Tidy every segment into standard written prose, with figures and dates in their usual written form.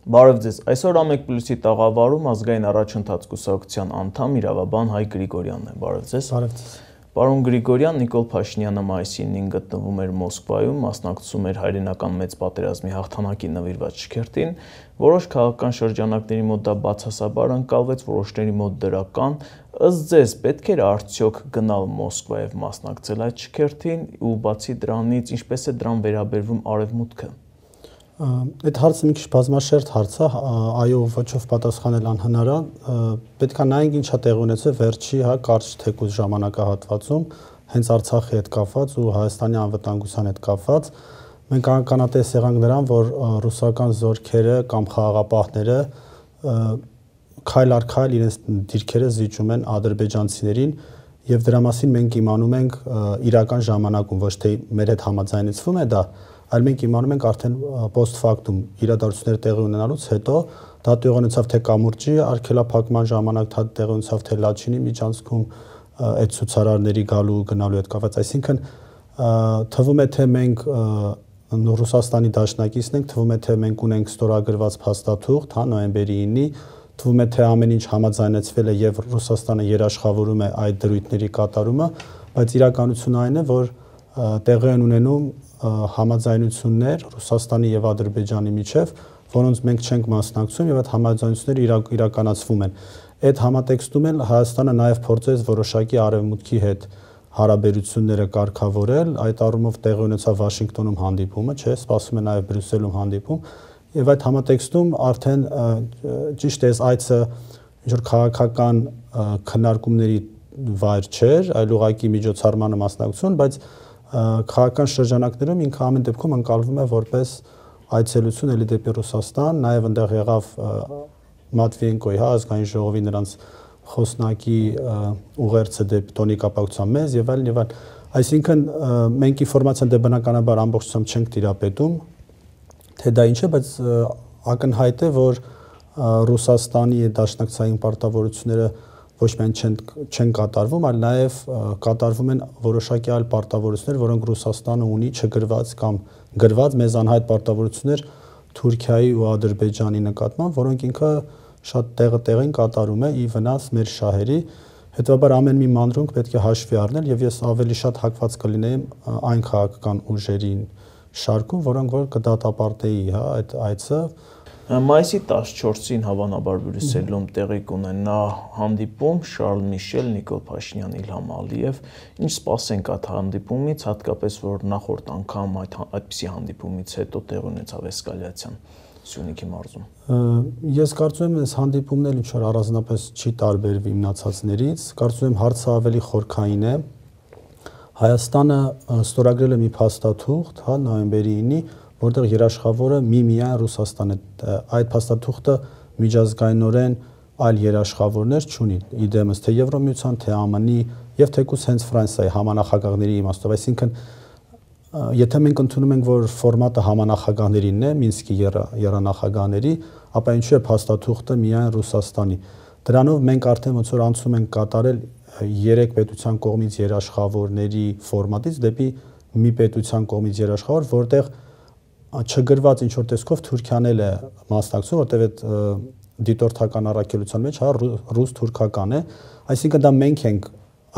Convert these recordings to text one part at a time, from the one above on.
Բարև ձեզ, այսօր Ամեկ+-ի տաղավարում ազգային առաջընթաց կուսակցության անդամ իրավաբան Հայկ Գրիգորյանն է, բարև ձեզ։ Բարև ձեզ։ Պարոն Գրիգորյան, Նիկոլ Փաշինյանը մայիսի 9-ին գտնվում էր Մոսկվայում, մասնակցում էր հայրենական մեծ պատերազմի հաղթանակի նվիրված շքերթին, որոշ քաղաքական շրջանակների մոտ դա բացասաբար ընկալվեց, որոշների մոտ դրական։ Ըստ ձեզ, պետք էր արդյոք գնալ Մոսկվա եւ մասնակցել այդ շքերթին, ու բացի դրանից, ինչպես է դրան վերաբերվում Արևմուտքը։ Այդ հարցը մի քիչ բազմաշերտ հարց է, այո ոչով պատասխանել անհնար է, պետք է նայենք ինչա տեղ ունեցել վերջի կարճ թեկուզ ժամանակահատվածում, հենց Արցախի հետ կապված ու Հայաստանի անվտանգության հետ կապված, մենք ականատես եղանք նրան, որ ռուսական զորքերը կամ խաղաղապահները քայլ առ քայլ իրենց դիրքերը զիջում են ադրբեջանցիներին եւ դրա մասին մենք իմանում ենք իրական ժամանակում, ոչ թե մեր հետ համաձայնեցվում է դա, այլ մենք իմանում ենք արդեն post factum իրադարձությունները տեղի ունենալուց հետո դա տեղի ունեցավ թե կամուրջի արգելափակման ժամանակ, դա տեղի ունեցավ թե Լաչինի միջանցքում այդ ցուցարարների գալու գնալու հետ կապված, այսինքն թվում է թե մենք Ռուսաստանի դաշնակիցն ենք, թվում է թե մենք ունենք ստորագրված փաստաթուղթ, նոյեմբերի 9-ի, թվում է թե ամեն ինչ համաձայնեցվել է եւ Ռուսաստանը երաշխավորում է այդ դրույթների կատարումը, բայց իրականությունն այն է, որ տեղի են ունենում համաձայնություններ Ռուսաստանի եւ Ադրբեջանի միջև, որոնց մենք չենք մասնակցում եւ այդ համաձայնությունները իրականացվում են։ Այդ համատեքստում էլ Հայաստանը նաեւ փորձեց որոշակի արևմուտքի հետ հարաբերությունները կարգավորել, այդ առումով տեղի ունեցավ Վաշինգտոնում հանդիպումը, չէ, սպասում է նաեւ Բրյուսելում հանդիպում, եւ այդ համատեքստում արդեն ճիշտ է, այցը ինչ որ քաղաքական քննարկումների վայր չէր, այլ ուղղակի միջոցառմանը մասնակցություն, բայց քաղաքական շրջանակներում ինքը ամեն դեպքում ընկալվում է որպես այցելություն էլի դեպի Ռուսաստան, նաեւ այնտեղ եղավ Մատվիենկոյի ազգային ժողովի նրանց խոսնակի ուղերձը դեպի տոնի կապակցությամբ մեզ եւ այլն եւ այլն, այսինքն մենք ինֆորմացիան դե բնականաբար ամբողջությամբ չենք տիրապետում, թե դա ինչ է, բայց ակնհայտ է, որ Ռուսաստանի դաշնակցային պարտավորությունները ոչ միայն չեն կատարվում, այլ նաև կատարվում են որոշակի այլ պարտավորություններ, որոնք Ռուսաստանը ունի չգրված կամ գրված մեզ անհայտ պարտավորություններ Թուրքիայի ու Ադրբեջանի նկատմամբ, որոնք ինքը շատ տեղին կատարում է ի վնաս մեր շահերի, հետևաբար ամեն մի մանրունք պետք է հաշվի առնել եւ ես ավելի շատ հակված կլինեի այն քաղաքական ուժերին շարքում, որոնք որ կդատապարտեի, այդ այցը Մայիսի 14-ին հավանաբար Բրյուսելում տեղի կունենա հանդիպում Շարլ Միշել, Նիկոլ Փաշինյան, Իլհամ Ալիև, ինչ սպասենք այդ հանդիպումից, հատկապես որ նախորդ անգամ այդպիսի հանդիպումից հետո տեղի ունեցավ էսկալացիան Սյունիքի մարզում։ Ես կարծում եմ, այս հանդիպումն էլ ինչ որ առանձնապես չի տարբերվի մնացածներից, կարծում եմ հարցը ավելի խորքային է։ Հայաստանը ստորագրել է մի փաստաթուղթ, նոյեմբերի 9-ի, որտեղ երաշխավորը միայն Ռուսաստան է, այդ փաստաթուղթը միջազգայինորեն այլ երաշխավորներ չունի, իդեմս թե Եվրոմիության, թե ԱՄՆ-ի եւ թեկուզ հենց Ֆրանսիայի համանախագահների իմաստով, այսինքն եթե մենք ընդունում ենք, որ ֆորմատը համանախագահներինն է, Մինսկի եռանախագահների, ապա ինչու է փաստաթուղթը միայն Ռուսաստանի։ Դրանով մենք արդեն ոնց որ անցում ենք կատարել 3 պետության կողմից երաշխավորների ֆորմատից դեպի մի պետության կողմից երաշխավոր, որտեղ չգրված ինչ որ տեսքով Թուրքիան էլ է մասնակցում, որտեղ այդ դիտորդական առաքելության մեջ ռուս-թուրքական է, այսինքն դա մենք ենք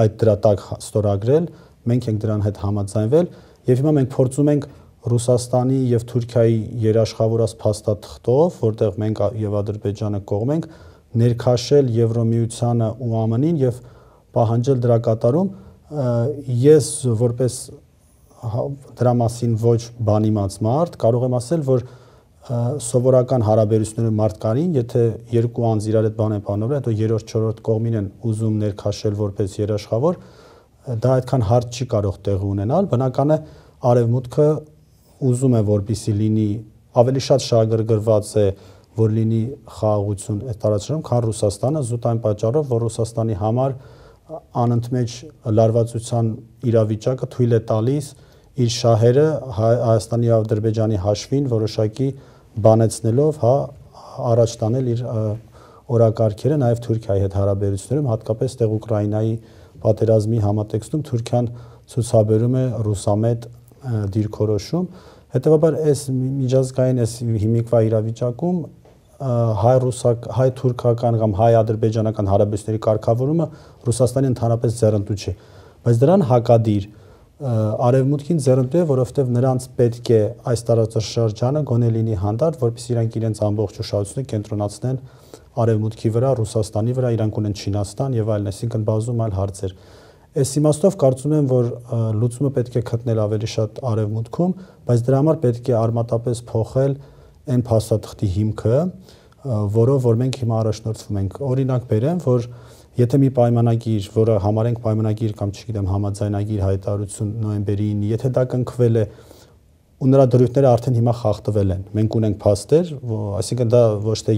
այդ դրա տակ ստորագրել, մենք ենք դրան հետ համաձայնվել եւ հիմա մենք փորձում ենք Ռուսաստանի եւ Թուրքիայի երաշխավորած փաստաթղթով, որտեղ մենք եւ Ադրբեջանը կողմ ենք, ներքաշել Եվրոմիությանը ու ԱՄՆ-ին եւ պահանջել դրա կատարում, ես որպես դրա մասին ոչ բան իմաց մարդ կարող եմ ասել, որ սովորական հարաբերություններում մարդկային, եթե երկու անձ իրար հետ բան են բանորել, հետո երրորդ, չորրորդ կողմին են ուզում ներքաշել որպես երաշխավոր, դա այդքան հարց չի կարող տեղի ունենալ, բնական է Արևմուտքը ուզում է որպեսզի լինի ավելի շատ շահագրգռված է, որ լինի խաղաղություն այդ տարածքում, քան Ռուսաստանը, զուտ այն պատճառով, որ Ռուսաստանի համար անընդմեջ լարվածության իրավիճակը թույլ է տալիս իր շահերը Հայաստանի եւ Ադրբեջանի հաշվին որոշակի բանեցնելով, առաջ տանել իր օրակարգերը նաեւ Թուրքիայի հետ հարաբերություններում, հատկապես տեղ Ուկրաինայի պատերազմի համատեքստում Թուրքիան ցուցաբերում է ռուսամետ դիրքորոշում, հետեւաբար այս միջազգային այս հիմիկվա իրավիճակում հայ-թուրքական կամ հայ-ադրբեջանական հարաբերությունների կարգավորումը Ռուսաստանի ընդհանրապես ձեռնտու չի, բայց դրան հակադիր Արևմուտքին ձեռնտու է, որովհետև նրանց պետք է այս տարածաշրջանը գոնե լինի հանդարտ, որպեսզի իրանք իրենց ամբողջ ուշադրությունը կենտրոնացնեն Արևմուտքի վրա, Ռուսաստանի վրա, իրանք ունեն Չինաստան եւ այլն, այսինքն բազում այլ հարցեր։ Այս իմաստով կարծում եմ, որ լուծումը պետք է գտնել ավելի շատ Արևմուտքում, բայց դրա համար պետք է արմատապես փոխել այն փաստաթղթի հիմքը, որով որ մենք հիմա առաջնորդվում ենք։ Օրինակ բերեմ, որ եթե մի պայմանագիր, որը համարենք պայմանագիր կամ չգիտեմ համաձայնագիր հայտարարություն նոյեմբերի 9-ի, եթե դա կնքվել է ու նրա դրույթները արդեն հիմա խախտվել են, մենք ունենք փաստեր, այսինքն դա ոչ թե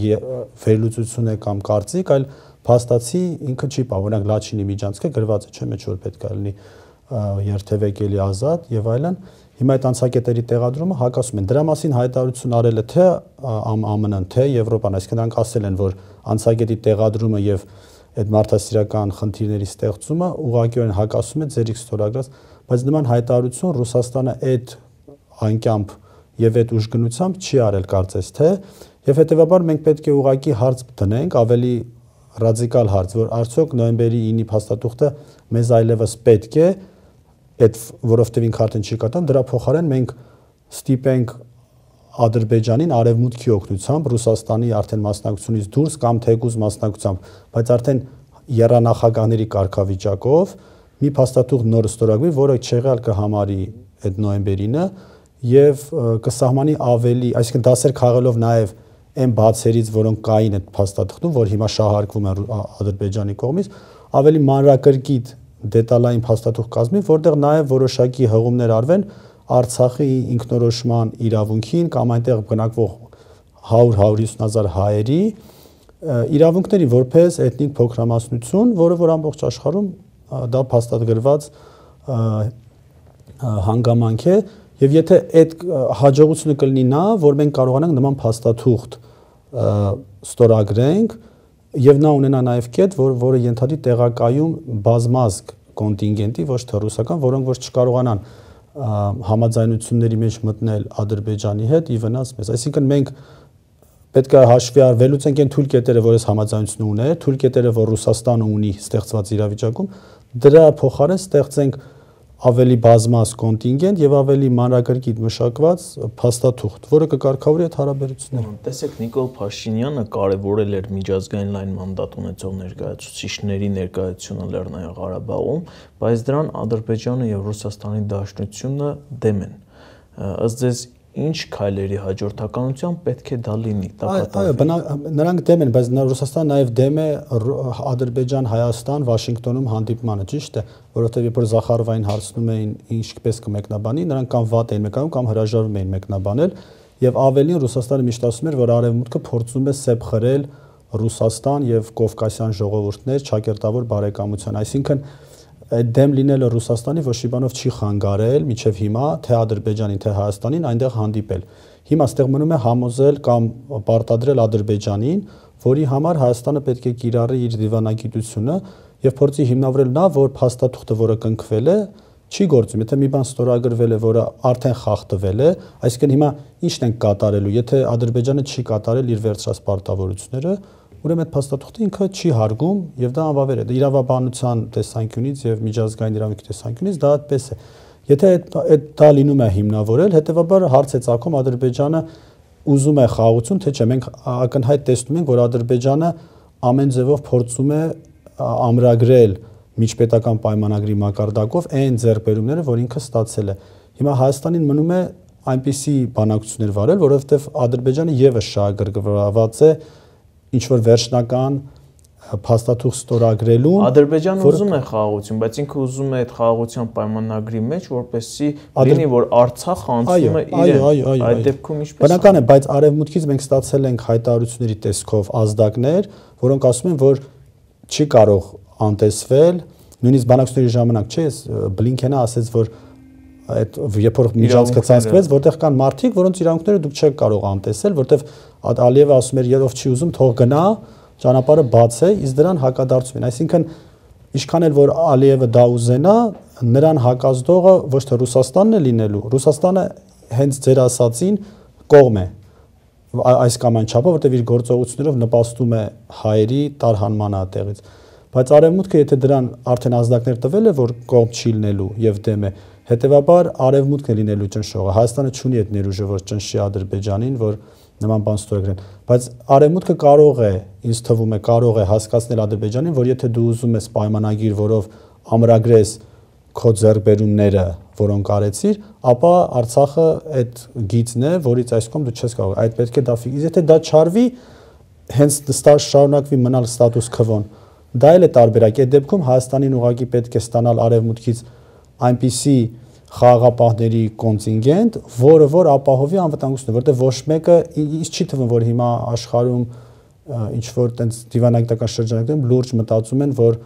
վերլուծություն է կամ կարծիք, այլ փաստացի ինքը չի պահ, օրինակ Լաչինի միջանցքը գրված է, չէ՞, մեջ որ պետք է լինի երթևեկելի ազատ եւ այլն։ Հիմա այդ անցակետերի տեղադրումը հակասում են։ Դրա մասին հայտարարություն արել է թե ԱՄՆ-ն, թե Եվրոպան, այսինքն նրանք ասել են, որ անցակետի տեղադրումը եւ այդ մարդասիրական խնդիրների ստեղծումը ուղղակիորեն հակասում է ձերիկ ստորագրած, բայց նման հայտարարություն Ռուսաստանը այդ անկյամբ եւ այդ ուժգնությամբ չի արել կարծես թե, եւ հետեւաբար մենք պետք է ուղղակի հարց դնենք, ավելի ռադիկալ հարց, որ արդյոք նոյեմբերի 9-ի փաստաթուղթը մեզ այլևս պետք է, այդ որովհետեւ ինքը արդեն չի կատարում, դրա փոխարեն մենք ստիպենք Ադրբեջանին արևմուտքի օգնությամբ Ռուսաստանի արդեն մասնակցությունից դուրս կամ թեկուզ մասնակցությամբ, բայց արդեն եռանախագահների կարգավիճակով մի փաստաթուղթ նոր ստորագրվի, որը չեղյալ կհամարի այդ նոյեմբերինը եւ կսահմանի ավելի, այսինքն դասեր քաղելով նաեւ այն բացերից, որոնք կային այդ փաստաթղթում, որ հիմա շահարկվում են Ադրբեջանի կողմից, ավելի մանրակրկիտ դետալային փաստաթուղթ կազմի, որտեղ նաեւ որոշակի հղումներ արվեն Արցախի ինքնորոշման իրավունքին կամ այնտեղ բնակվող 100-150,000 հայերի իրավունքների որպես էթնիկ փոքրամասնություն, որը որ ամբողջ աշխարհում դա փաստագրված հանգամանք է, եւ եթե այդ հաջողությունը կլինի նա, որ մենք կարողանանք նման փաստաթուղթ ստորագրենք եւ նա ունենա նաեւ կետ, որը ենթադրի տեղակայում բազմազգ կոնտինգենտի, ոչ թե ռուսական, որոնք որ չկարողանան համաձայնությունների մեջ մտնել Ադրբեջանի հետ ի վնաս մեզ։ Այսինքն մենք պետք է հաշվի վերլուծենք այն թույլ կետերը, որ այս համաձայնությունը ունի, թույլ կետերը, որ Ռուսաստանը ունի ստեղծված իրավիճակում, դրա փոխարեն ստեղծենք ավելի բազմազ կոնտինգենտ եւ ավելի մանրակրկիտ մշակված փաստաթուղթ, որը կկարգավորի այդ հարաբերությունները։ Տեսեք, Նիկոլ Փաշինյանը կարևորել էր միջազգային լայն մանդատ ունեցող ներկայացուցիչների ներկայությունը Լեռնային Ղարաբաղում, բայց դրան Ադրբեջանը եւ Ռուսաստանի Դաշնությունը դեմ են։ Ըստ ձեզ ինչ քայլերի հաջորդականությամբ պետք է դա լինի, Այո, նրանք դեմ են, բայց Ռուսաստանը նաև դեմ է Ադրբեջան-Հայաստան Վաշինգտոնում հանդիպմանը, ճիշտ է, որովհետև երբ որ Զախարովային հարցնում էին ինչպես կմեկնաբանի, նրանք կամ վատ էին մեկնաբանում, կամ հրաժարվում էին մեկնաբանել, եւ ավելին Ռուսաստանը միշտ ասում էր, որ Արևմուտքը փորձում է սեպ խրել Ռուսաստան եւ Կովկասյան ժողովուրդներ ճակերտավոր բարեկամության, այսինքն այդ դեմ լինելը Ռուսաստանի ոչ մի բանով չի խանգարել միջև հիմա թե Ադրբեջանին թե Հայաստանին այնտեղ հանդիպել։ Հիմա ստեղ մնում է համոզել կամ պարտադրել Ադրբեջանին, որի համար Հայաստանը պետք է կիրառի իր դիվանագիտությունը եւ փորձի հիմնավորել նա, որ փաստաթուղթը, որը կնքվել է, չի գործում։ Եթե մի բան ստորագրվել է, որը արդեն խախտվել է, այսինքն հիմա ի՞նչն ենք կատարելու, եթե Ադրբեջանը չի կատարել իր վերջրած պարտավորությունները, ուրեմն այդ փաստաթուղթը ինքը չի հարգում եւ դա անվավեր է։ Իրավաբանության տեսանկյունից եւ միջազգային իրավունքի տեսանկյունից դա այդպես է։ Եթե դա լինում է հիմնավորել, հետեւաբար հարց է ծագում Ադրբեջանը ուզում է խաղաղություն, թե չէ։ Մենք ակնհայտ տեսնում ենք, որ Ադրբեջանը ամեն ձևով փորձում է ամրագրել միջպետական պայմանագրի մակարդակով այն ձեռքբերումները, որ ինքը ստացել է։ Հիմա Հայաստանին մնում է այնպիսի բանակցություններ վարել, որովհետեւ Ադրբեջանը եւս շահագրգռված է ինչ որ վերջնական փաստաթուղթ ստորագրելուն Ադրբեջանը ուզում է խաղաղություն, բայց ինքը ուզում է այդ խաղաղության պայմանագրի մեջ, որպեսզի լինի, որ Արցախը անցնում է իրեն։ Այդ դեպքում ինչպես։ Բնական է, բայց Արևմուտքից մենք ստացել ենք հայտարարությունների տեսքով ազդակներ, որոնք ասում են, որ չի կարող անտեսվել, նույնիսկ բանակցությունների ժամանակ, չէ, Բլինքենը ասաց, որ այդ երբ որ միջանցքը ծածկվեց, որտեղ կան մարդիկ, որոնց իրավունքները դուք չեք կարող անտեսել, որտեղ Ալիևը ասում էր, երբ չի ուզում, թող գնա, ճանապարհը բաց է, իսկ դրան հակադարձում են։ Այսինքն, ինչքան էլ որ Ալիևը դա ուզենա, նրան հակազդողը ոչ թե Ռուսաստանն է լինելու, Ռուսաստանը հենց ձեր ասածին կողմ է։ այս կամ այն չափով, որտեղ իր գործողություններով նպաստում է հայերի տարհանմանը այդտեղից։ Բայց արևմուտքը, եթե դրան արդեն ազդակներ տվել է, որ կողմ չի լինելու եւ դեմ է, հետեւաբար արևմուտքն է լինելու ճնշողը։ Հայաստանը չունի այդ ներուժը, որ ճնշի Ադրբեջանին, որ նման բան ստորագրեն։ Բայց արևմուտքը կարող է, ինձ թվում է, կարող է հասկացնել Ադրբեջանին, որ եթե դու ուզում ես պայմանագիր, որով ամրագրես քո ձեռքբերումները, որոնք արեցիր, ապա Արցախը այդ գիծն է, որից այս կողմ դու չես կարող։ Այդ պետք է դա եթե դա չարվի, հենց շարունակվի մնալ ստատուս քվոն։ Դա էլ է տարբերակ։ Այդ դեպքում Հայաստանին ուղղակի պետք է ստանալ արևմուտքից այնպիսի խաղաղապահների կոնտինգենտ, որ ապահովի անվտանգությունը, որտեղ ոչ մեկը ինձ չի թվում, որ հիմա աշխարհում ինչ որ տենց դիվանագիտական շրջանակներում լուրջ մտածում են, որ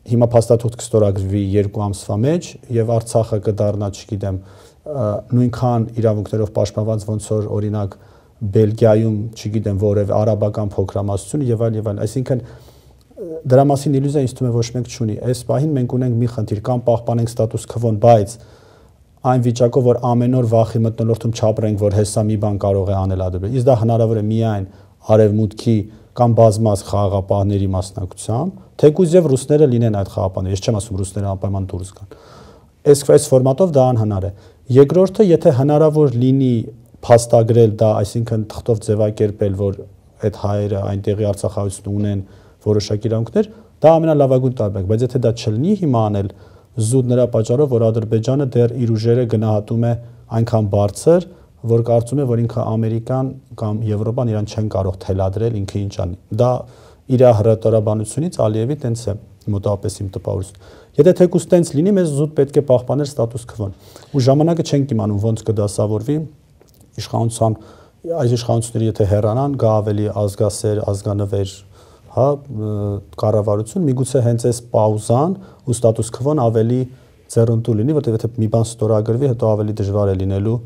հիմա փաստաթուղթ կստորագրվի 2 ամսվա մեջ եւ Արցախը կդառնա, չգիտեմ, նույնքան իրավունքներով պաշտպանված, ոնց որ օրինակ Բելգիայում, չգիտեմ, որևէ արաբական փոքրամասնություն եւ այլ, այսինքն դրա մասին իլյուզիա ինձ թվում է ոչ մեկ չունի։ Այս պահին մենք ունենք մի խնդիր, կամ պահպանենք ստատուս քվոն, բայց այն վիճակով, որ ամեն օր վախի մթնոլորտում չապրենք, որ հեսա մի բան կարող է անել Ադրբեջանը։ Իսկ դա հնարավոր է միայն արևմուտքի կամ բազմաց խաղաղապահների մասնակցությամբ, թեկուզ եւ ռուսները լինեն այդ խաղաղապահները։ Ես չեմ ասում ռուսները անպայման դուրս գան։ Այս ֆորմատով դա անհնար է։ Երկրորդը, եթե հնարավոր լինի փաստագրել դա, այսինքն թղթով ձևակերպել, որ այդ հայերը այնտեղի արցախայցուն ունեն որոշակի իրավունքներ, դա ամենալավագույն տարբերակը, բայց եթե դա չլինի հիմա անել զուտ նրա պատճառով, որ Ադրբեջանը դեռ իր ուժերը գնահատում է այնքան բարձր, որ կարծում է, որ ինքը Ամերիկան կամ Եվրոպան իրան չեն կարող թելադրել, ինքը ինչ անի։ Դա իր հրատարաբանությունից Ալիևի տենց է մոտավորապես իմ տպավորությունը։ Եթե թեկուզ տենց լինի, մեզ զուտ պետք է պահպանել ստատուս քվոն։ Ու ժամանակը չենք իմանում ոնց կդասավորվի իշխանության, այս իշխանությունները եթե հեռանան, գա ավելի ազգասեր, ազգանվեր, հա, կառավարություն, միգուցե հենց այս պաուզան ու ստատուս քվոն ավելի ձեռնտու լինի, որտեղ եթե մի բան ստորագրվի, հետո ավելի դժվար է լինելու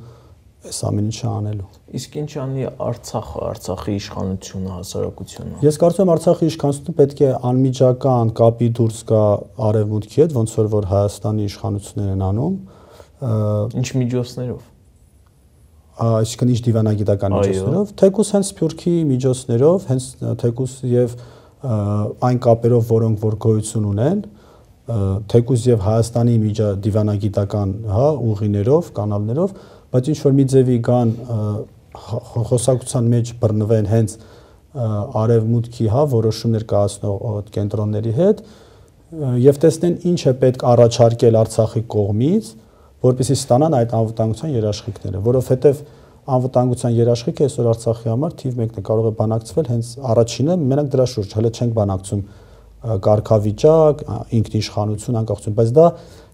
այս ամեն ինչը անելու։ Իսկ ինչ անի Արցախը, Արցախի իշխանությունը, հասարակությունը։ Ես կարծում եմ Արցախի իշխանությունը պետք է անմիջական կապի դուրս գա արևմուտքի հետ, ոնց որ Հայաստանի իշխանություններն են անում։ Ինչ միջոցներով։ Այսինքն ինչ դիվանագիտական միջոցներով, թեկուզ հենց Սփյուռքի միջոցներով, հենց թեկուզ եւ այն կապերով, որոնք որ գոյություն ունեն, թեկուզ եւ Հայաստանի դիվանագիտական, հա, ուղիներով, կանալներով, բայց ինչ որ մի ձևի կան խոսակցության մեջ բռնվեն հենց արևմուտքի, հա, որոշումներ կայացնող կենտրոնների հետ եւ տեսնեն ինչ է պետք առաջարկել Արցախի կողմից, որպեսզի ստանան այդ անվտանգության երաշխիքները, որովհետեւ անվտանգության երաշխիքը այսօր Արցախի համար թիվ 1-ն է, կարող է բանակցվել հենց առաջինը, մենակ դրա շուրջ, հələ չենք բանակցում կարգավիճակ, ինքնիշխանություն, անկախություն, բայց դա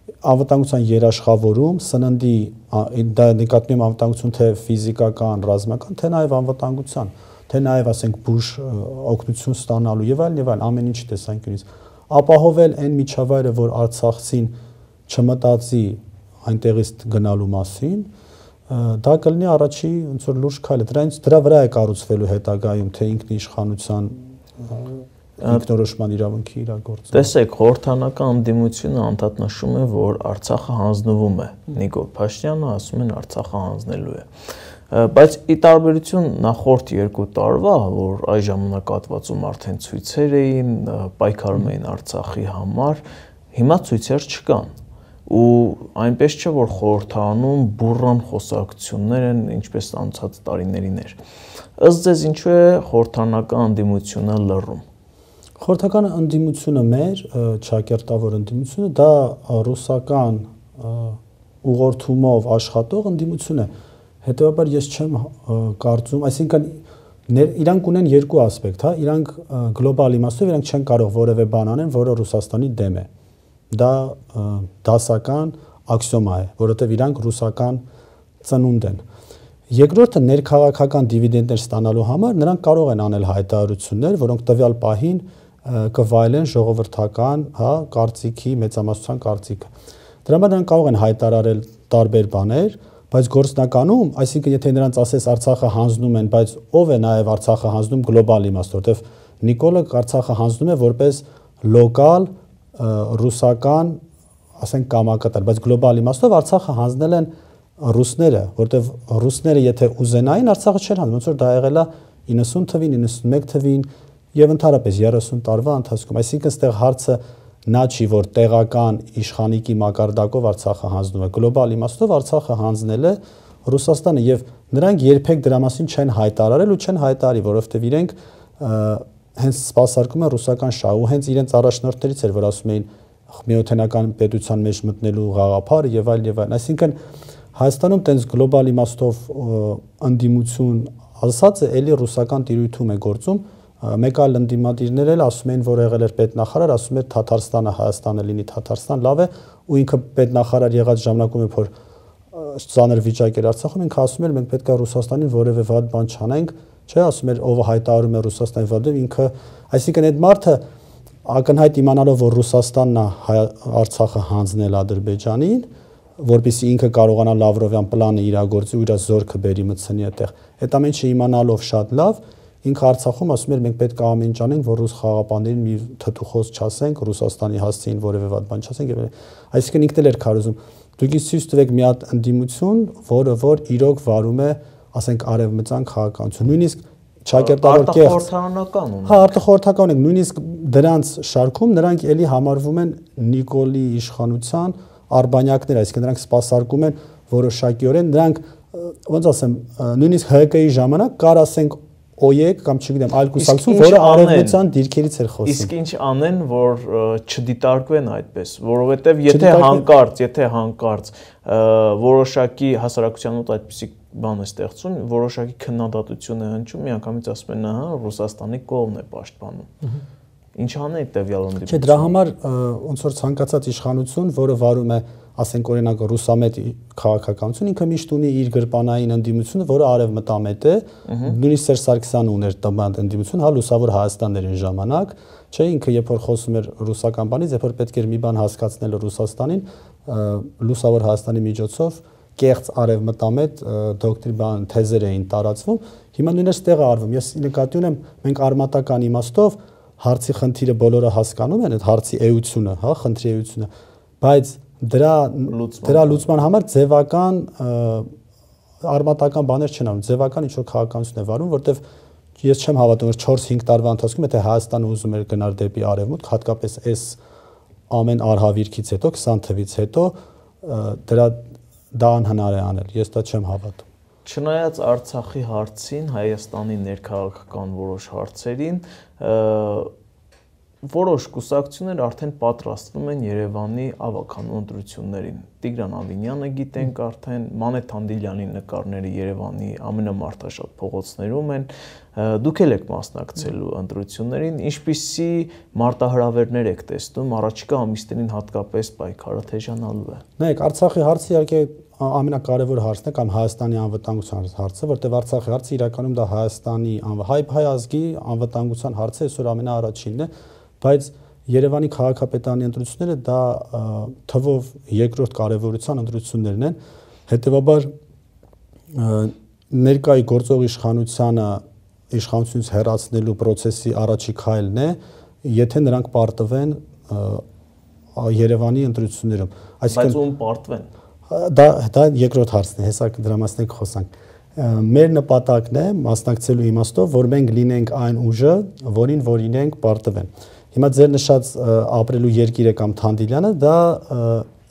անվտանգության երաշխավորում, սննդի, դա նկատի ունեմ անվտանգություն թե ֆիզիկական, ռազմական, թե նաև անվտանգության, թե նաև ասենք բուժ օգնություն ստանալու եւ այլն, ամեն ինչի տեսանկյունից ապահովել այն միջավայրը, որ Արցախցին չմտածի այնտեղից գնալու մասին, դա կլինի առաջի ոնց որ լուրջ քայլը, դրա վրա է կառուցվելու հետագայում թե ինքնիշխանության ինքնորոշման իրավունքի իրագործումը։ Տեսեք, խորհրդանական ընդդիմությունը անդադ նշում է, որ Արցախը հանձնվում է։ Նիկոլ Փաշինյանը ասում են Արցախը հանձնելու է։ Բայց ի տարբերություն նախորդ 2 տարվա, որ այս ժամանակահատվածում արդեն ցույցեր էին, պայքարում էին Արցախի համար, հիմա ցույցեր չկան։ Ու այնպես չէ, որ խորհրդանում բուրռան խոսակցություններ են, ինչպես անցած տարիներին էր։ Ըստ ձեզ ինչու է խորհրդանական ընդդիմությունը լռում։ Խորհրդական ընդդիմությունը մեր ճակերտավոր ընդդիմությունը դա ռուսական ուղղորդումով աշխատող ընդդիմություն է։ Հետևաբար ես չեմ կարծում, այսինքն իրանք ունեն երկու ասպեկտ, հա, իրանք գլոբալ իմաստով իրանք չեն կարող որևէ բան անեն, որը Ռուսաստանի դեմ է։ Դա դասական աքսիոմա է, որովհետև իրանք ռուսական ծնունդ են։ Երկրորդը ներքաղաքական դիվիդենդներ ստանալու համար նրանք կարող են անել հայտարարություններ, որոնք տվյալ պահին կվայելեն ժողովրդական, հա, կարծիքի, մեծամասնության կարծիքը։ Դրա համար նրանք կարող են հայտարարել տարբեր բաներ, բայց գործնականում, այսինքն եթե նրանց ասես Արցախը հանձնում են, բայց ով է նաև Արցախը հանձնում գլոբալ իմաստով, որովհետև Նիկոլը Արցախը հանձնում է որպես լոկալ ռուսական, ասենք կամակատար, բայց գլոբալ իմաստով Արցախը հանձնել են ռուսները, որտեվ ռուսները եթե ուզենային Արցախը չէր հանձնում, ոնց որ դա եղել է 90 թվին, 91 թվին եւ ընդհանրապես 30 տարվա ընթացքում, այսինքն այստեղ հարցը նա չի, որ տեղական իշխանիկի մակարդակով Արցախը հանձնում է, գլոբալ իմաստով Արցախը հանձնել է Ռուսաստանը եւ նրանք երբեք դրա մասին չեն հայտարարել ու չեն հայտարարի, որովհետեւ իրենք հենց սպասարկում են ռուսական շահ ու հենց իրենց առաջնորդներից էր, որ ասում էին միութենական պետության մեջ մտնելու գաղափար եւ այլ, այսինքն Հայաստանում տենց գլոբալ իմաստով ընդդիմություն ասած է էլի ռուսական տիրույթում է գործում, մեկ այլ ընդդիմադիրներ էլ ասում են, որ եղել էր պետնախարար, ասում էր Թաթարստանը Հայաստանը լինի Թաթարստան լավ է, ու ինքը պետնախարար եղած ժամանակում էր, որ ծանր վիճակ էր Արցախում, ինքը ասում էր մենք պետք է Ռուսաստանին որևէ վատ բան չանենք, չէ, ասում էր ով հայտարարում է Ռուսաստանի վատ, ինքը, այսինքն այդ մարդը ակնհայտ իմանալով, որ Ռուսաստանն է Արցախը հանձնել Ադրբեջանին, որպեսզի ինքը կարողանա Լավրովյան պլանը իրագործի ու իր զորքը բերի մտցնի այդտեղ։ Այդ ամեն ինչը իմանալով շատ լավ, ինքը Արցախում ասում էր մենք պետք է ամեն ինչ անենք, որ ռուս խաղաղապահներին մի թթուխոս չասենք, Ռուսաստանի հասցեին որևէ վատ բան չասենք, այսինքն ինքն էլ էր քարոզում։ Դուք ինձ ցույց տվեք մի հատ ընդդիմություն, որը որ իրոք վարում է, ասենք արևմտյան քաղաքականություն, նույնիսկ Չակերտավոր կեղծ արտախորհրդանական ունեն։ Հա, արտախորհրդական ունենք, նույնիսկ դրանց շարքում նրանք էլի համարվում են Նիկոլի իշխանության արբանյակներ, այսինքն նրանք սպասարկում են որոշակիորեն, նրանք ոնց ասեմ, նույնիսկ ՀԿ-ի ժամանակ կար ասենք ՕԵԿ կամ չգիտեմ, այլ կուսակցություն, որը արևմտյան դիրքերից էր խոսում։ Իսկ ինչ անեն, որ չդիտարկվեն այդպես, որովհետև եթե հանկարծ որոշակի հասարակության մոտ այդպիսի բան է ստեղծում, որոշակի քննադատություն է հնչում, միանգամից ասում են, ահա, Ռուսաստանի կողմն է պաշտպանում։ Ինչ անեն տվյալ ընդդիմությունը։ Չէ, դրա համար ոնց որ ցանկացած իշխանություն, որը վարում է, ասենք օրինակ ռուսամետ քաղաքականություն, ինքը միշտ ունի իր գրպանային ընդդիմությունը, որը արևմտամետ է, նույնիսկ Սերժ Սարգսյանը ուներ տմբանդ ընդդիմություն, հա լուսավոր Հայաստաններին ժամանակ, չէ, ինքը երբ որ խոսում էր ռուսական բանից, երբ որ պետք էր մի բան հասկացնել Ռուսաստանին, լուսավոր Հայաստանի միջոցով կեղծ արևմտամետ դոկտրին թեզեր էին տարածվում, հիմա նույնպես տեղը արվում։ Ես նկատի ունեմ, մենք արմատական իմաստով հարցի խնդիրը բոլորը հասկանում են, այդ հարցի էությունը, հա, խնդրի էությունը, բայց դրա լուծման համար ձևական արմատական բաներ չեն անում, ձևական ինչ-որ քաղաքականություն է վարում, որտեվ ես չեմ հավատում, որ 4-5 տարվա ընթացքում եթե Հայաստանը ուզում էր գնալ դեպի արևմուտք, հատկապես այս ամեն արհավիրքից հետո, 20 թվից հետո դա անհնար է անել, ես դա չեմ հավատում։ Չնայած Արցախի հարցին, Հայաստանի ներքաղաքական որոշ հարցերին, որոշ կուսակցություններ արդեն պատրաստվում են Երևանի ավագանու ընտրություններին։ Տիգրան Ավինյանը գիտենք արդեն, Մանեթ Հանդիլյանի նկարները Երևանի ամենամարդաշատ փողոցներում են։ Դուք եք մասնակցելու ընտրություններին, ինչպիսի մարտահրավերներ եք տեսնում, առաջիկա ամիսներին հատկապես պայքարը թեժանալու է։ Նայեք, Արցախի հարցը իհարկե ամենակարևոր հարցն է կամ Հայաստանի անվտանգության հարցը, որտեղ Արցախի հարցը իրականում դա Հայաստանի հայ ազգի անվտանգության հարցը այսօր ամենաառաջինն է, բայց Երևանի քաղաքապետարանի ընտրությունները դա թվով երկրորդ կարևորության ընտրություններն են, հետեւաբար ներկայի գործող իշխանությունից հեռացնելու process-ի առաջի քայլն է, եթե նրանք պարտվեն Երևանի ընտրություններում, բայց ում պարտվեն։ Դա երկրորդ հարցն է, հեսա դրա մասին խոսանք։ Մեր նպատակն է մասնակցելու իմաստով, որ մենք լինենք այն ուժը, որ իրենք պարտվեն։ Հիմա ձեր նշած ապրելու երկիրը կամ Թանդիլյանը դա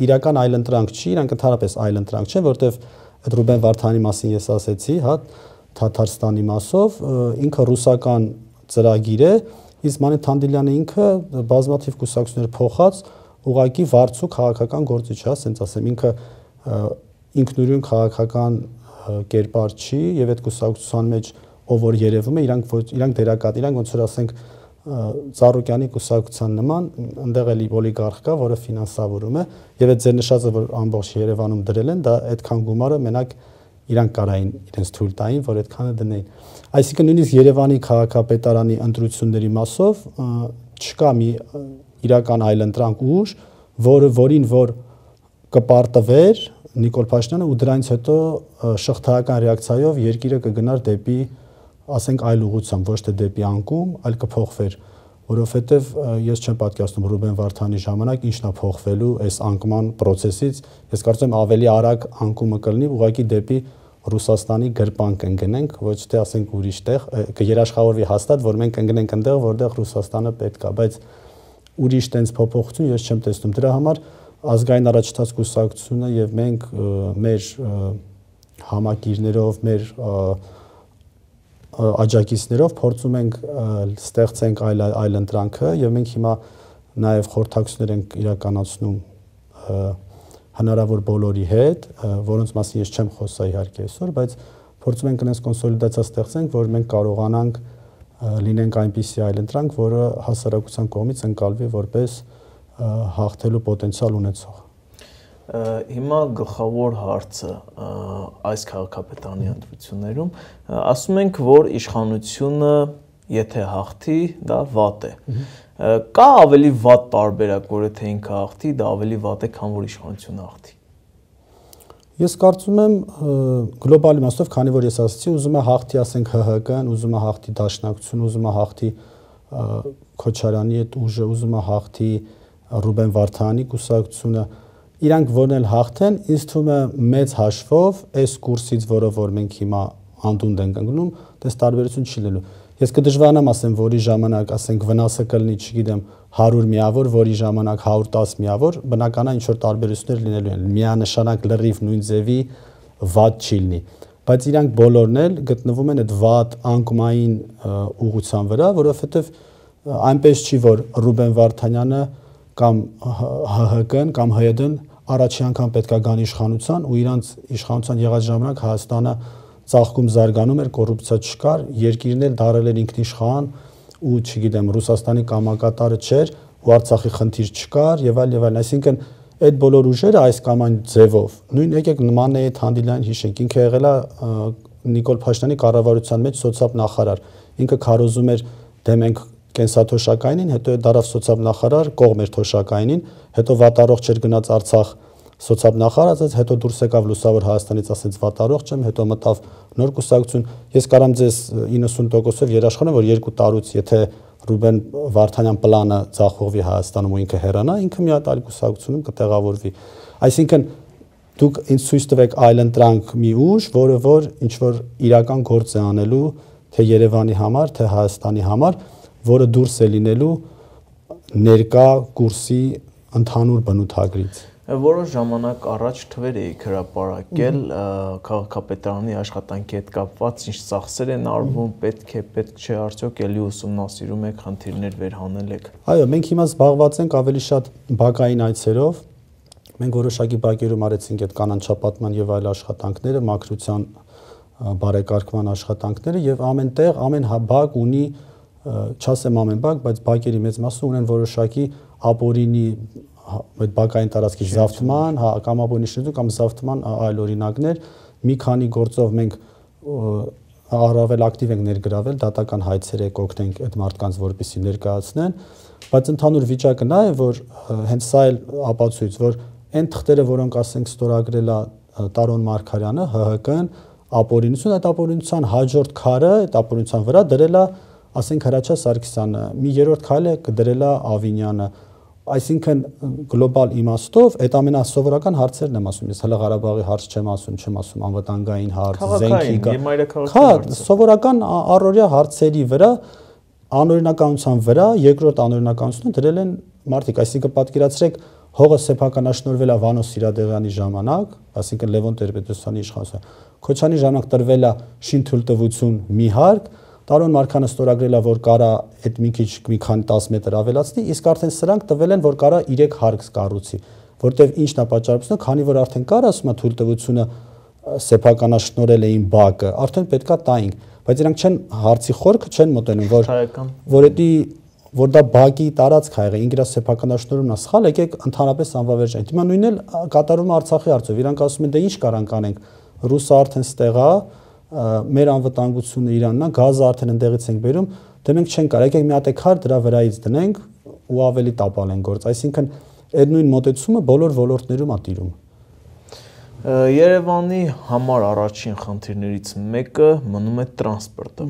իրական այլընտրանք չի, իրանք ընդհանրապես այլընտրանք չեն, որտեվ այդ Ռուբեն Վարդանի մասին ես ասեցի, հա, Թաթարստանի մասով ինքը ռուսական ծրագիր է, իսկ Մանեթ Հանդիլյանը ինքը բազմաթիվ կուսակցություններ փոխած ուղղակի վարձու քաղաքական գործիչ է, ասենց ասեմ, ինքը ինքնուրույն քաղաքական կերպար չի եւ այդ կուսակցության մեջ ով որ երևում է, իրանք դերակատ, իրանք ոնց որ ասենք Ծառուկյանի կուսակցության նման այնտեղ էլի օլիգարխ կա, որը ֆինանսավորում է եւ այդ ձեր նշածը որ ամբողջ Երևանում դրել են, դա այդքան գումարը մենակ իրանք կարային իրենց թույլ տային, որ այդքանը դնեին։ Այսինքն նույնիսկ Երևանի քաղաքապետարանի ընտրությունների մասով չկա մի իրական այլընտրանք ուժ, որին որ կպարտվեր Նիկոլ Փաշինյանը ու դրանից հետո շղթայական ռեակցիայով երկիրը կգնար դեպի, ասենք, այլ ուղղությամբ, ոչ թե դեպի անկում, այլ կփոխվեր որովհետև ես չեմ պատկերացնում Ռուբեն Վարդանի ժամանակ ինչն է փոխվելու այս անկման process-ից, ես կարծում եմ ավելի արագ անկումը կլինի ուղղակի դեպի Ռուսաստանի գրպան կընկնենք, ոչ թե ասենք ուրիշ տեղ, կերաշխավորվի հաստատ, որ մենք կընկնենք այնտեղ, որտեղ Ռուսաստանը պետք է, բայց ուրիշ տենց փոփոխություն ես չեմ տեսնում։ Դրա համար ազգային առաջընթաց կուսակցությունը եւ մենք մեր համակիրներով, մեր աջակիցներով փորձում ենք ստեղծենք այլ ընտրանքը եւ մենք հիմա նաեւ խորհրդակցություններ ենք իրականացնում հնարավոր բոլորի հետ, որոնց մասին ես չեմ խոսա իհարկե այսօր, բայց փորձում ենք այնպես կոնսոլիդացիա ստեղծենք, որ մենք կարողանանք լինենք այնպիսի այլ ընտրանք, որը հասարակության կողմից ընկալվի որպես հաղթելու պոտենցիալ ունեցող։ Հիմա գլխավոր հարցը այս քաղաքապետարանի ընտրություններում ասում ենք, որ իշխանությունը եթե հաղթի, դա վատ է։ Կա ավելի վատ տարբերակ, որ եթե ինքը հաղթի, դա ավելի վատ է, քան որ իշխանությունը հաղթի։ Ես կարծում եմ գլոբալ իմաստով, քանի որ ես ասացի, ուզում է հաղթի, ասենք ՀՀԿ-ն, ուզում է հաղթի Դաշնակցությունը, ուզում է հաղթի Քոչարյանի այդ ուժը, ուզում է հաղթի Ռուբեն Վարդանի կուսակցությունը, իրանք որն էլ հաղթեն, ինձ թվում է մեծ հաշվով այս կուրսից, որով որ մենք հիմա անդունդ ենք ընկնում, դες տարբերություն չի լինելու։ Ես կդժվարանամ ասեմ, որի ժամանակ, ասենք, վնասը կլինի, չգիտեմ, 100 միավոր, որի ժամանակ 110 միավոր, բնական է ինչ որ տարբերություններ լինելու են։ Միանշանակ լրիվ նույն ձևի վատ չի լինի։ Բայց իրանք բոլորն էլ գտնվում են այդ վատ անկմային ուղղության վրա, որովհետև այնպես չի, որ Ռուբեն Վարդանյանը կամ ՀՀԿ-ն կամ ՀՅԴ-ն առաջի անգամ պետքա գան իշխանության ու իրանց իշխանության եղած ժամանակ Հայաստանը ծաղկում զարգանում էր, կոռուպցիա չկար, երկիրն էլ դարել էր ինքնիշխան ու չգիտեմ, Ռուսաստանի կամակատարը չէր ու Արցախի խնդիր չկար եւ այլ, այսինքն այդ բոլոր ուժերը այս կամ այն ձևով, նույն եկեք Մանեի Թանդիլյանին հիշենք, ինքը եղել է Նիկոլ Փաշինյանի կառավարության մեջ սոցիալ-նախարար, ինքը քարոզում էր դեմ ենք կենսաթոշակայինին, հետո դարավ սոցիալ-նախարար, կողմ էր թոշակայինին, հետո վատառողջ էր գնաց Արցախ սոցիալ-նախարար, ասաց, հետո դուրս եկավ Լուսավոր Հայաստանից, ասաց վատառողջ եմ, հետո մտավ նոր կուսակցություն։ Ես կարամ ձեզ 90%-ով երաշխավորեմ, որ 2 տարուց, եթե Ռուբեն Վարդանյան պլանը ձախողվի Հայաստանում ու ինքը հեռանա, ինքը մի հատ այլ կուսակցությունում կտեղավորվի։ Այսինքն դուք ինձ ցույց տվեք այլ ընտրանք մի ուժ, որը որ ինչ որ իրական գործ է անելու թե Երևանի համար, թե Հայաստանի համար, որը դուրս է լինելու ներկա կուրսի ընդհանուր բնութագրից։ Որոշ ժամանակ առաջ թվեր էի հրապարակել քաղաքապետարանի աշխատանքի հետ կապված, ինչ ծախսեր են արվում, պետք չէ արդյոք էլի ուսումնասիրում եք, խնդիրներ վերհանել եք։ Այո, մենք հիմա զբաղված ենք ավելի շատ բակային այցերով։ Մենք որոշակի բակերում արեցինք այդ կանանչապատման եւ այլ աշխատանքները, մաքրության բարեկարգման աշխատանքները եւ ամեն տեղ, ամեն բակ ունի, չասեմ ամեն բակ, բայց բակերի մեծ մասը ունեն որոշակի ապօրինի այդ բակային տարածքի զավթման, կամ ապօրինի շրջան կամ զավթման այլ օրինակներ, մի քանի գործով մենք առավել ակտիվ ենք ներգրավել, դատական հայցեր եք օգնենք այդ մարդկանց որպեսզի ներկայացնեն, բայց ընդհանուր վիճակը նա է, որ հենց սա էլ ապացույց, որ այն թղթերը, որոնք ասենք ստորագրել է Տարոն Մարգարյանը, ՀՀԿ-ն, ապօրինություն, այդ ապօրինության հաջորդ քարը, այդ ապօրինության վրա դրել է, ասենք Հրաչյա Սարգսյանը, մի երրորդ քայլը կդրել է Ավինյանը, այսինքն գլոբալ իմաստով այդ ամենասովորական հարցերն եմ ասում, ես հələ Ղարաբաղի հարց չեմ ասում անվտանգային հարց, զենքի, սովորական առօրյա հարցերի վրա, անօրինականության վրա, երկրորդ անօրինականությունը դրել են մարդիկ, այսինքն պատկերացրեք հողը սեփականաշնորհվել է Վանո Սիրադեղյանի ժամանակ, այսինքն Լևոն Տեր-Պետրոսյանի իշխանության, Քոչարյանի ժամանակ տրվել է շինթույլտվություն մի հարկ, Տարոն Մարգարյանը ստորագրել է, որ կարա այդ մի քանի 10 մետր ավելացնի, իսկ արդեն սրանք տվել են, որ կարա 3 հարկ կառուցի, որտեվ ինչն է պատճառաբանությունը, քանի որ արդեն կար, ասում է թույլտվությունը սեփականաշնորհել էին բակը, արդեն պետքա տայինք, բայց իրանք չեն հարցի խորքը չեն մոտենում, որ դա բակի տարածք ա եղել, ինքնա սեփականաշնորհումն է սխալ, եկեք ընդհանրապես անվավերջ այն։ Հիմա նույնն էլ կատարվում է Արցախի հարցով, իրանք ասում են դե ինչ կարանք անենք, ռուսը արդեն ստեղ է, մեր անվտանգությունը Իրանն է, գազը արդեն ընդեղից ենք բերում, դե մենք չենք կարող, եկեք մի հատ քար դրա վրայից դնենք ու ավելի տապալենք գործ, այսինքն այդ նույն մոտեցումը բոլոր ոլորտներում է տիրում։ Երևանի համար առաջին խնդիրներից մեկը մնում է տրանսպորտը։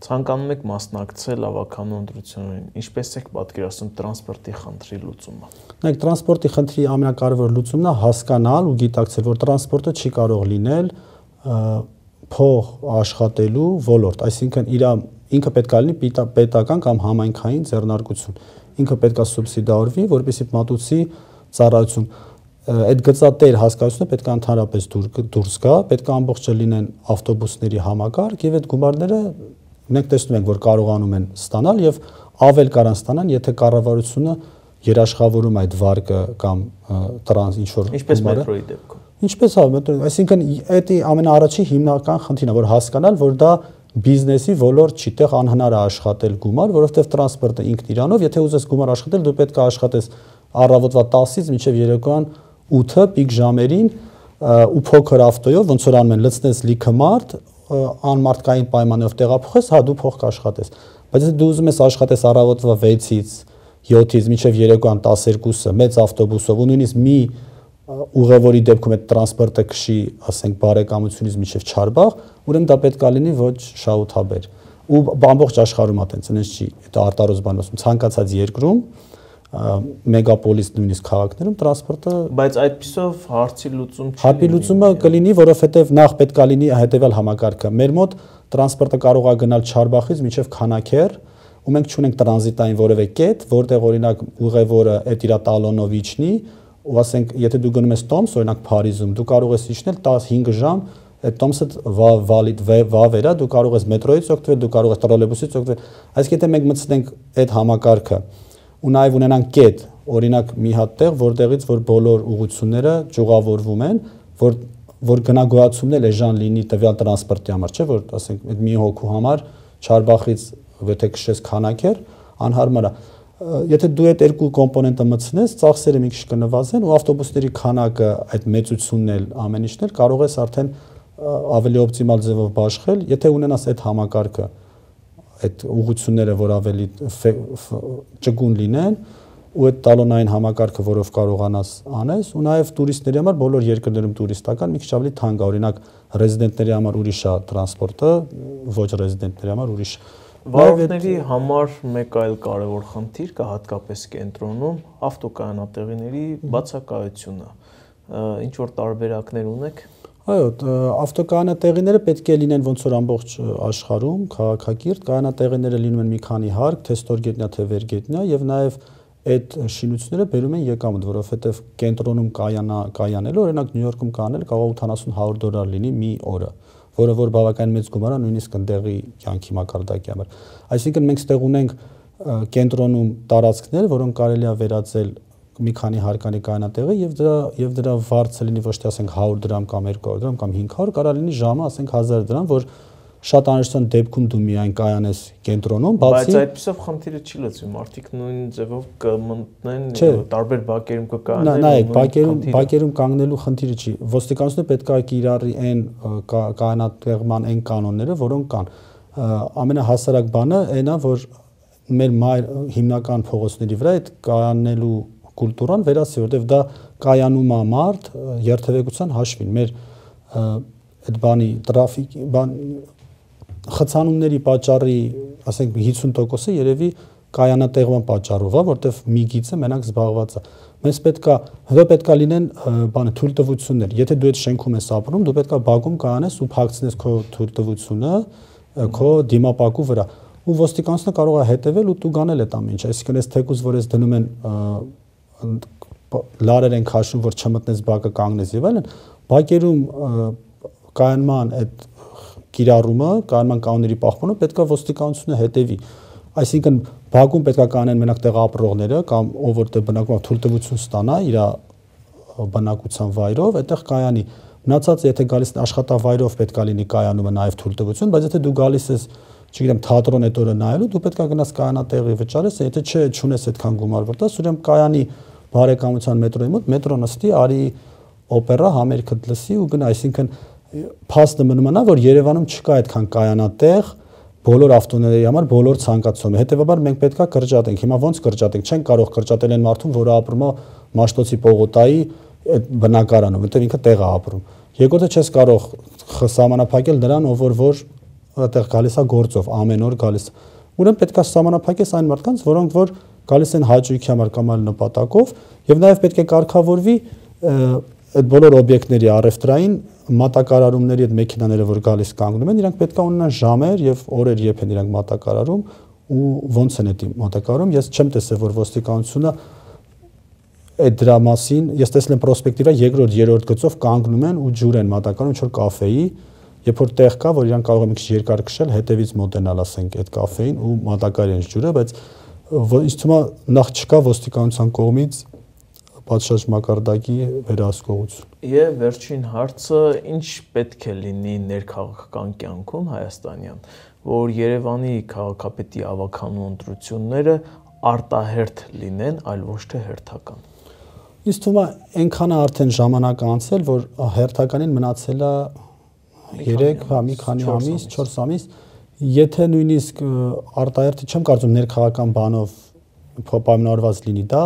Ցանկանում եք մասնակցել ավականու ընտրություններին, ինչպես եք պատկերացնում տրանսպորտի խնդրի լուծումը։ Նայեք, տրանսպորտի խնդրի ամենակարևոր լուծումն է հասկանալ ու գիտակցել, որ տրանսպորտը չի կարող լինել փող աշխատելու ոլորտ, այսինքն ինքը պետք է լինի պետական կամ համայնքային ձեռնարկություն։ Ինքը պետք է սուբսիդավորվի, որպեսզի մատուցի ծառայություն։ Այդ գծատեր հասկացությունը պետք է ընդհանրապես դուրս գա, պետք է ամբողջը լինեն ավտոբուսների համակարգ եւ այդ գումարները մենք տեսնում ենք, որ կարողանում են ստանալ եւ ավել կարան ստանան, եթե կառավարությունը երաշխավորում այդ վարկը կամ ինչ որ ինչպես մետրոյի դեպքում։ Ինչպես այսինքն դա ամենաառաջի հիմնական խնդիրն է, որ հասկանալ, որ դա բիզնեսի ոլորտ չի, տեղ անհնար է աշխատել գումար, որովհետև տրանսպորտը ինքն իրանով, եթե ուզես գումար աշխատել, դու պետք է աշխատես առավոտվա 10-ից մինչև երեկոյան 8-ը պիկ ժամերին ու փոքր ավտոյով, ոնց որ անում են, լցնես լիքը մարդ, անմարդկային պայմաններով տեղափոխես, հա դու փող կաշխատես։ Բայց եթե դու ուզում ես աշխատես առավոտվա 6-ից 7-ից մինչև երեկոյան 12-ը մեծ ավտոբուսով ու նույնիսկ մի ուղևորի դեպքում այդ տրանսպորտը քշի, ասենք, բարեկամությունից մինչև Չարբաղ, ուրեմն դա պետք է լինի ոչ շահութաբեր։ Ու ամբողջ աշխարհում է տենց, այնպես չի, դա արտարոց բան ասում, ցանկացած երկրում, մեգապոլիս նույնիսկ քաղաքներում տրանսպորտը, բայց այդպիսով հարցի լուծում չի։ Հարցի լուծումը կլինի, որովհետև նախ պետք է լինի հետևյալ համակարգը։ Մեր մոտ տրանսպորտը կարող է գնալ Չարբախից մինչև Քանաքեր, ու մենք չունենք տրանզիտային որևէ կետ, որտեղ օրինակ ուղևորը այդ իր տալոնով իջնի, ու ասենք, եթե դու գնում ես Տոմս, օրինակ Փարիզում, դու կարող ես իջնել 15 ժամ, այդ Տոմսը վավեր է, դու կարող ես մետրոյից օգտվել, դու կարող ես տրոլեյբուսից օգտվել։ Այսինքն եթե մենք մտցնենք այդ համակարգը ու նաև ունենանք կետ, օրինակ մի հատ տեղ, որտեղից որ բոլոր ուղղությունները ճյուղավորվում են, որ գնագոյացումն էլ էժան լինի տվյալ տրանսպորտի համար, չէ՞ որ ասենք այդ մի հոգու համար Չարբախից եթե քշես Քանաքեր, անհարմար է։ Եթե դու այդ երկու կոմպոնենտը մտցնես, ծախսերը մի քիչ կնվազեն ու ավտոբուսների քանակը, այդ մեծությունն էլ ամեն ինչն էլ կարող ես արդեն ավելի օպտիմալ ձևով բաշխել, եթե ունենաս այդ համակարգը, այդ ուղղությունները, որ ավելի ճկուն լինեն, ու այդ տալոնային համակարգը, որով կարողանաս անես, ու նաև տուրիստների համար բոլոր երկրներում տուրիստական մի քիչ ավելի թանկ է, օրինակ ռեզիդենտների համար ուրիշ է տրանսպորտը, ոչ ռեզիդենտների համար ուրիշ։ Վարորդների համար մեկ այլ կարևոր խնդիր կա հատկապես կենտրոնում ավտոկայանատեղիների բացակայությունը։ Ինչ որ տարբերակներ ունեք։ Այո, ավտոկայանատեղիները պետք է լինեն ոնց որ ամբողջ աշխարհում, քաղաքակիրթ, կայանատեղիները լինում են մի քանի հարկ, թե ստորգետնյա, թե վերգետնյա, եւ նաեւ այդ շինությունները բերում են եկամուտ, որովհետեւ կենտրոնում կայանելը, օրինակ Նյու Յորքում կանել կարող $80-100 լինի մի օրը, որը որ բավական մեծ գումար է նույնիսկ ընդեղի կյանքի մակարդակի համար։ Այսինքն մենք ստեղ ունենք կենտրոնում տարածքներ, որոնք կարելի է վերածել մի քանի հարկանի կայանատեղի եւ դրա վարձը լինի ոչ թե ասենք $100 կամ $200 կամ $500, կարա լինի ժամը ասենք $1000, որ շատ անհրաժեշտ դեպքում դու միայն կայանես կենտրոնում, բացի բայց այդպեսով խնդիրը չի լուծվի, մարդիկ նույն ձևով կմտնեն տարբեր բակերում կկանեն։ Նայեք, բակերում կանգնելու խնդիրը չի։ Ոստիկանությունը պետք է կիրառի այն կայանատեղման այն կանոնները, որոնք կան։ Ամենահասարակ բանը այն է, որ մեր հիմնական փողոցների վրա այդ կայանելու կուլտուրան վերացի, որտեղ դա կայանում է մարդ երթևեկության հաշվին։ Մեր այդ բանի տրաֆիկի խցանումների պատճառի, ասենք 50%-ը երևի կայանատեղման պատճառով է, որտեղ մի գիծը մենակ զբաղված է։ Մենք հետո պետքա լինեն թույլտվություններ։ Եթե դու այդ շենքում ես ապրում, դու պետքա բակում կայանես ու փակցնես քո թույլտվությունը քո դիմապակու վրա։ Ու ոստիկանությունը կարող է հետևել ու տուգանել այդ ամեն ինչ։ Այսինքն այս թեկուզ որ ես դնում են լարեր են քաշում, որ չմտնես բակը կանգնես եւ այլն, բակերում կայանման այդ կիրառումը, կայանման կանոնների պահպանումը պետքա ոստիկանությունը հետևի։ Այսինքն բակում պետքա կանեն մենակ տեղ ապրողները կամ ով որտեղ բնակվում է թույլտվություն ստանա իր բնակության վայրով, այդտեղ կայանի։ Մնացածը եթե գալիս են աշխատավայրով պետքա լինի կայանումը նաև թույլտվություն, բայց եթե դու գալիս ես, չգիտեմ, թատրոն այդ օրը նայելու, դու պետքա գնաս կայանատեղի վճարես, եթե չունես այդքան գումար որտես, ուրեմն կայանի բարեկամության մետրոյի մոտ մետրո նստի, արի օպերա, համերգը լսի ու գնա, այսինքն փաստը մնում է նա, որ Երևանում չկա այդքան կայանատեղ բոլոր ավտոների համար, բոլոր ցանկացողը։ Հետևաբար մենք պետքա կրճատենք։ Հիմա ո՞նց կրճատենք։ Չենք կարող կրճատել այն մարդուն, որը ապրում է Մաշտոցի պողոտայի բնակարանում, որտեղ ինքը տեղ է ապրում։ Երկրորդը չես կարող սահմանափակել նրան, ով որ այդտեղ գալիս է գործով, ամեն օր գալիս։ Ուրեմն պետք է սահմանափակես այն մարդկանց, որոնք որ գալիս են հաճույքի համար կամ այլ նպատակով, եւ նաեւ պետք է կարգավորվի այդ բոլոր օբյեկտների առևտրային մատակարարումների այդ մեքենաները, որ գալիս կանգնում են, իրանք պետք է ունենան ժամեր եւ օրեր, երբ են իրանք մատակարարում ու ոնց են դա մատակարարում։ Ես չեմ տեսել, որ ոստիկանությունը այդ դրա մասին, ես տեսել եմ պրոսպեկտիվա երկրորդ, երրորդ գծով կանգնում են ու ջուր են մատակարարում ինչ-որ կաֆեի, երբ որ տեղ կա, որ իրանք կարող են մի քիչ երկար քշել, հետևից մոտենալ, ասենք, այդ կաֆեին ու մատակարարեն ջուրը, բայց ինձ թվում է նախ չկա ոստիկանության կողմից պատշաճ մակարդակի վերահսկողություն։ Եվ վերջին հարցը, ինչ պետք է լինի ներքաղաքական կյանքում հայաստանյան, որ Երևանի քաղաքապետի ավականու ընտրությունները արտահերթ լինեն, այլ ոչ թե հերթական։ Ինձ թվում է այնքան արդեն ժամանակ անցել, որ հերթականին մնացել է 3, մի քանի ամիս, 4 ամիս, եթե նույնիսկ արտահերթի չեմ կարծում ներքաղաքական բանով պայմանավորված լինի դա,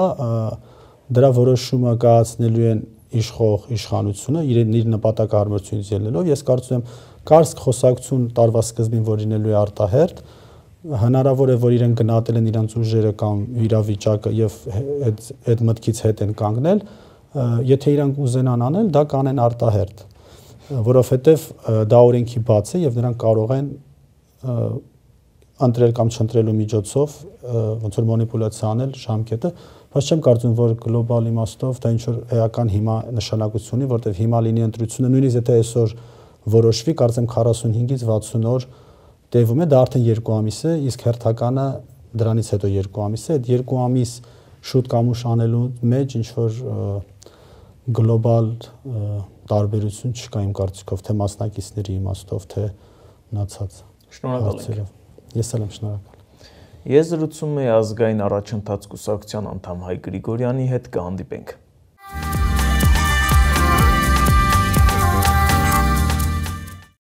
դրա որոշումը կայացնելու են իշխող իշխանությունը իր նպատակահարմարությունից ելնելով, ես կարծում եմ կարծք խոսակցություն տարվա սկզբին, որ լինելու է արտահերթ, հնարավոր է, որ իրեն գնահատել են իրանց ուժերը կամ իրավիճակը եւ այդ մտքից հետ են կանգնել, եթե իրանք ուզենան անել, դա կանեն արտահերթ, որովհետեւ դա օրենքի բաց է եւ նրանք կարող են ընտրել կամ չընտրելու միջոցով ոնց որ մանիպուլյացիա անել ժամկետը, բայց չեմ կարծում, որ գլոբալ իմաստով դա ինչ որ էական հիմա նշանակություն ունի, որտեղ հիմա լինի ընտրությունը, նույնիսկ եթե այսօր որոշվի, կարծեմ 45-ից 60 օր տևում է, դա արդեն 2 ամիս է, իսկ հերթականը դրանից հետո 2 ամիս է, այդ 2 ամիս շուտ կամուշ անելու մեջ ինչ որ գլոբալ տարբերություն չկա իմ կարծիքով, թե մասնակիցների իմաստով, թե մնացած։ Շնորհակալ եմ։ Ես էլ եմ շնորհակալ։ Ես զրուցում եի ազգային առաջընթաց կուսակցության անդամ Հայ Գրիգորյանի հետ, կհանդիպենք։